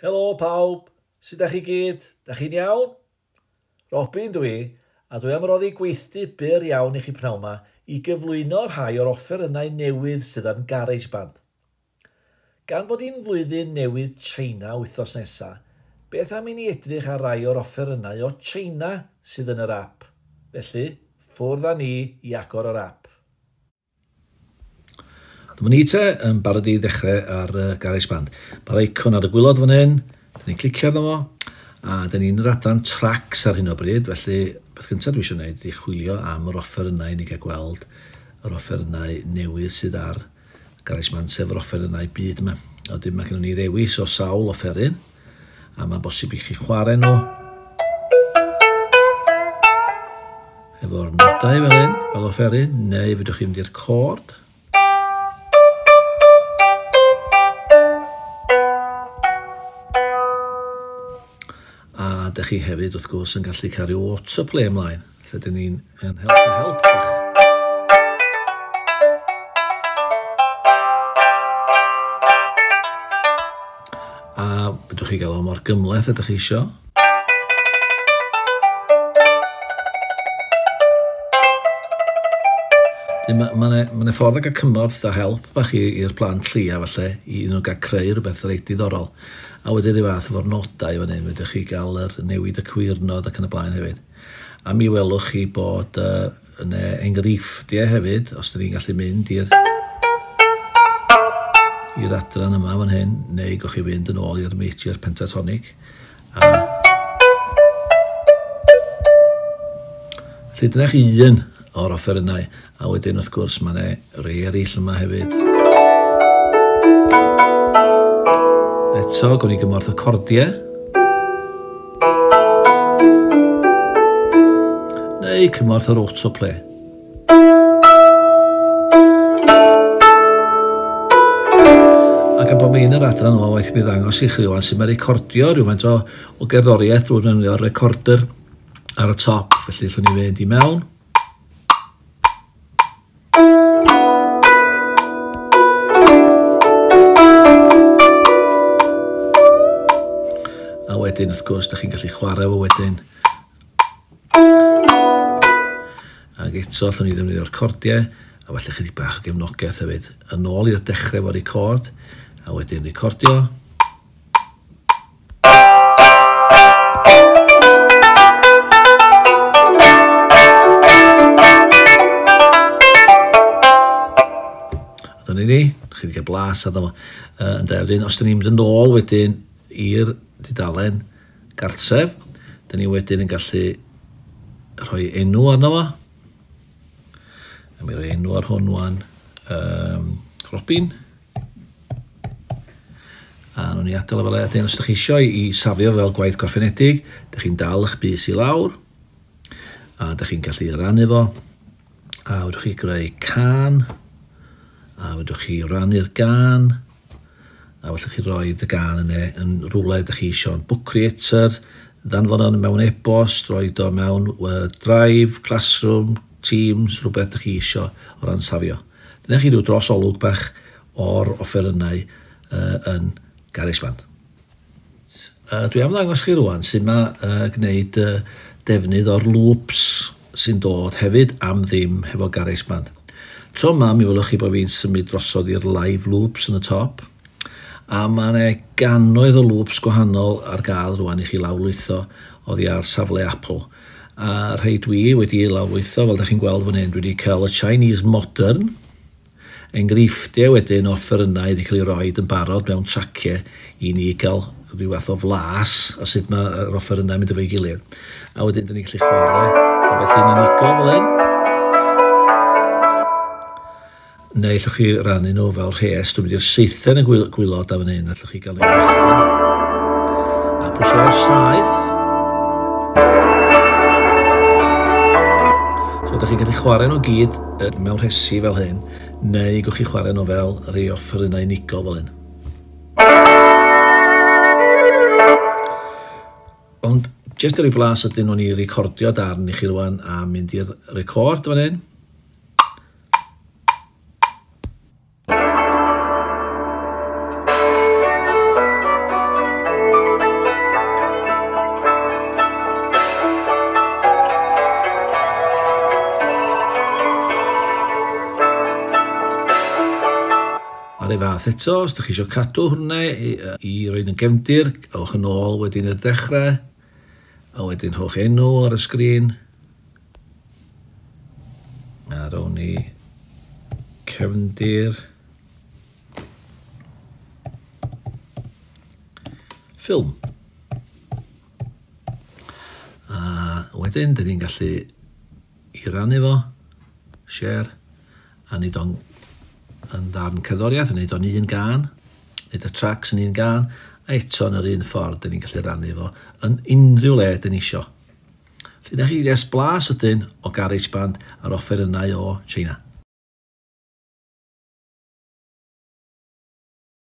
Helo pawb, sut dach chi gyd? Dach chi'n iawn? Robin dwi, a dwi am roddi gweithdy byr iawn i chi pnawn 'ma i gyflwyno rhai o'r offerynnau newydd sydd yn GarageBand. Gan bod hi'n flwyddyn newydd China wythnos nesa, beth am i ni edrych ar rai o'r offerynnau o China sydd yn yr app? Felly, ffwrdd â ni i agor yr app. Dyma ni te, yn barod i ddechrau ar GarageBand. Mae'r icon ar y gwylod fan hyn, dyn ni'n clicio arno fo, a dyn ni'n yr adran tracks ar hyn o bryd, felly beth gyntaf dwi eisiau gwneud ydy chwilio am yr offerynnau i ni gael gweld yr offerynnau newydd sydd ar GarageBand, sef yr offerynnau byd yma. A wedyn mae gennym ni ddewis o sawl offeryn, a mae'n bosib i chi chwarae nhw efo'r nodau fel hyn, fel offeryn, neu fedrwch chi mynd i'r cord. A dych chi hefyd, wrth gwrs, yn gallu cael rhyw autoplay ymlaen, lle dyn ni'n yn helpu help bach. A fedrwch chi gael o mor gymhleth ydych chi isio. Mae ma, ma, ma ffordd o gael cymorth a help bach i'r plant llia falle, i nhw gael creu rhywbeth reit diddorol. A wedyn rhyw fath efo'r nodau fan hyn, fedrwch chi gael yr newid y cywirnod ac yn y blaen hefyd. A mi welwch chi bod yna enghreifftiau hefyd, os ydyn ni'n gallu mynd i'r adran yma fan hyn, neu gewch chi fynd yn ôl i'r major pentatonic. Felly dyna chi un o'r offerynnau, a wedyn wrth gwrs mae yna rei eraill yma hefyd. Eto, gwn i gymorth y cordiau. Neu cymorth yr autoplay. Ac am bod mi'n yr adran yma, waith i mi ddangos i chi rwan sut mae recordio rhywfaint o gerddoriaeth drwy ddefnyddio'r recorder ar y top. Felly allwn ni fynd i mewn. A wedyn, wrth gwrs, dych chi'n gallu chwarae fo wedyn. Ac eto, allwn ni ddefnyddio'r cordiau, a falle chydig bach o gefnogaeth hefyd. Yn ôl i'r dechrau efo record, a wedyn recordio. A dyna ni, chi wedi cael blas arno fo. Ynde, wedyn, os dyn ni'n mynd yn ôl wedyn i'r dudalen gartref, dyn ni wedyn yn gallu rhoi enw arno fo. A mi roi enw ar hwn wan, Robin. A nhw'n ni adael o fel e. Os ydych chi eisiau i safio fel gwaith gorffenedig, ydych chi'n dal eich bys i lawr, a ydych chi'n gallu rannu fo, a fedrwch chi greu cân, a fedrwch chi rannu'r gân, a fedrwch chi roi y gân yna yn rhywle ydych chi eisiau, yn Book Creator, ddanfon o mewn e-bost, rhoi o mewn Drive, Classroom, Teams, rhywbeth ydych chi eisiau o ran safio. Dyna chi rhyw dros olwg bach o'r offerynnau yn GarageBand. Dwi am ddangos chi rwan sut mae gwneud defnydd o'r loops sy'n dod hefyd am ddim hefo GarageBand. Tro yma mi welwch chi bod fi'n symud drosodd i'r live loops yn y top, a mae yna gannoedd o loops gwahanol ar gael rwan i chi lawrlwytho oddi ar safle Apple. A rhai dwi wedi lawrlwytho, fel ydych chi'n gweld fan hyn, dwi wedi cael y Chinese Modern, enghreifftiau wedyn o offerynnau wedi cael ei roed yn barod mewn traciau i ni gael rhyw fath o flas o sut mae'r offerynnau mynd efo'i gilydd. A wedyn dyn ni'n gallu chwarae ambell un unigol fel hyn. Neu allwch chi rannu nhw fel rhes. Dwi'n mynd i'r seithen yn gwylod a fan hyn, allwch chi gael ei ddechrau. A pwysio'r saeth. So ydych chi'n gallu chwarae nhw gyd mewn rhesi fel hyn, neu gewch chi chwarae nhw fel rhai offerynnau unigol fel hyn. Ond jyst i roi blas ydyn nhw'n i recordio darn i chi rwan a mynd i'r record fan hyn. fath eto, os ydych chi eisiau cadw hwnna i roed yn gefndir, ewch yn ôl wedyn i'r dechrau, a wedyn rhowch enw ar y sgrin. A rown ni cefndir ffilm. A wedyn, dyn ni'n gallu i rannu fo, share, a nid o'n yn ddarn cerddoriaeth, wneud o'n un gan, wneud y tracks yn un gan, a eto yn yr un ffordd, dyn ni'n gallu rannu fo yn unrhyw le dyn ni isio. Felly, na chi jes blas ydyn o GarageBand a'r offerynnau o China.